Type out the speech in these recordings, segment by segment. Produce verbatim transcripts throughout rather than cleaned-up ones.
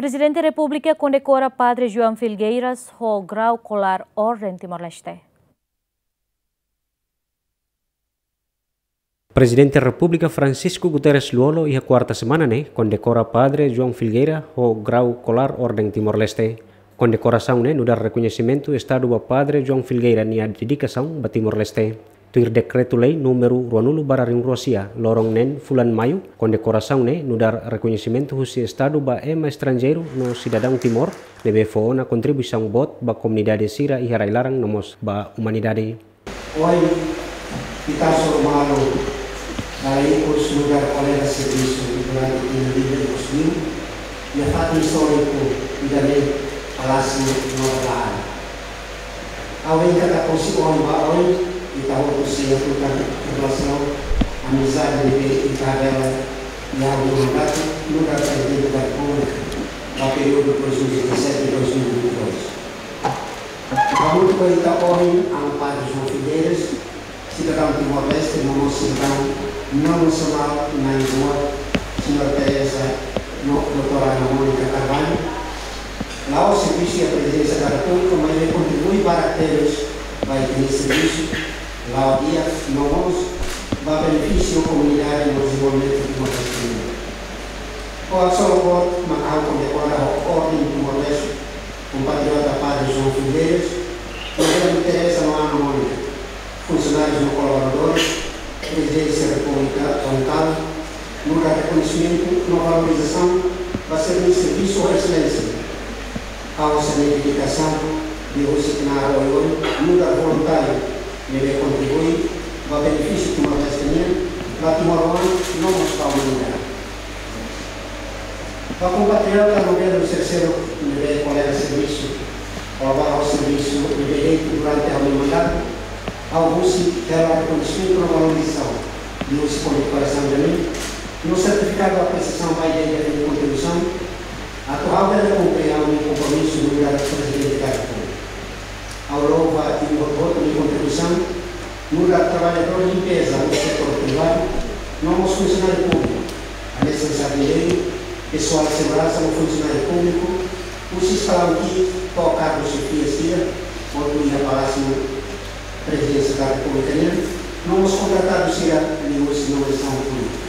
Prezidente Repúblika kondekora Padre João Filgueiras ho grau kolar Orden Timor-Leste. Prezidente Repúblika Francisco Guterres Lú-Olo iha kuarta semana ne'e kondekora Padre João Filgueira ho grau kolar Orden Timor-Leste. Kondekorasaun ne'e nu'udar rekoñesimentu Estadu ba Padre João Filgueira nia dedikasaun ba Timor-Leste. Tuir Dekretu-Lei númeru ruanulu barra rihun rua sia, loron neen fulan Maiu, kondekorasaun ne'e nu'udar rekoñesimentu husi Estadu ba ema estranjeiru no sidadaun Timor ne'ebé fó ona kontribuisaun boot ba komunidade sira iha rai-laran no mós ba umanidade. Ohin, ita hasoru malu ba ikus nu'udar kolega servisu durante tinan rihun rua iha fatin istóriku ida-ne'e, Palásiu Nova Laran. Ha'u hakarak hato'o ohin ba oin, ita hotu sei hatutan relasaun amizade ne'ebé ita hela iha ha'u-nia mandatu nu'udar Prezidente da Repúblika ba períodu dois mil e dezassete, dois mil e vinte e dois. Hamutuk ho ita ohin, Amu Padre João Filgueiras, sidadaun Timor-Leste, no mós sidadaun nasionál na'in-rua, Señora Teresa no Doutora Ana Mónica Carvalho. La'ós servisu iha Prezidénsia da Repúblika, maibé kontribui barak tebes ba ita-nia servisu la'o di'ak, no mós ba benefísiu komunidade no dezenvolvimentu Timor-Leste. Ho haksolok boot mak ha'u kondekora ho Orden Timor-Leste kompatriota Padre João Filgueiras, Maria Teresa no Ana Mónica, funsionárius no kolaboradores, Prezidénsia Repúblika Orientál, nu'udar rekoñesimentu no valorizasaun ba sira-nia servisu ho eselénsia. Ha'u sei dedikasaun liuhusi knaar oioin nu'udar voluntáriu ne'ebé kontribui ba benefísiu Timor-Leste nian, ba timoroan no mós ba umanidade. Ba kompatriota no belu terseiro ne'ebé kolega servisu, ou ba ha'u servisu ne'ebé de'it durante ha'u-nia mandatu, ha'u husik hela rekoñesimentu no valorizasaun liuhusi kondekorasaun ida-ne'e, no sertifikadu apresiasaun ba ida-idak nia kontribuisaun, atu ha'u bele kumpre ha'u-nia kompromisu nu'udar Prezidente da Repúblika. Ha'u louva imi hotu-hotu nia kontribuisaun, nu'udar traballadór limpeza no setór privadu, no mós funsionáriu públiku, hanesan jardineiru, pesoál seguransa no funsionáriu públiku, husi eskalaun ki'ik to'o kargu xefia sira, hotu iha Palásiu Prezidénsia da Repúblika nian, no mós kontratadu sira liuhusi nomeasaun públika.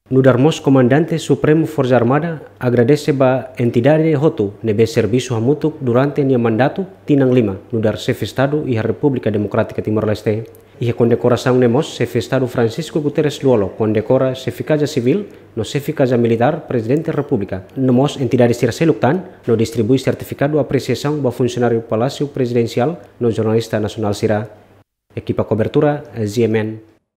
Nu'udar mós Komandante Supremu Forsa Armada agradese ba entidade hotu ne'ebé servisu hamutuk durante nia mandatu tinan lima nu'udar Xefe Estadu iha Repúblika Demokrátika Timor-Leste. Iha kondekorasaun ne'e mós Xefe Estadu Francisco Guterres Lú-Olo kondekora Xefe Kaza Sivíl no Xefe Kaza Militár Prezidente Repúblika, no mós entidade sira seluk tan, no distribui sertifikadu apresiasaun ba funsionáriu Palásiu Prezidensiál no jornalista nasionál sira. Ekipa kobertura, Z M N.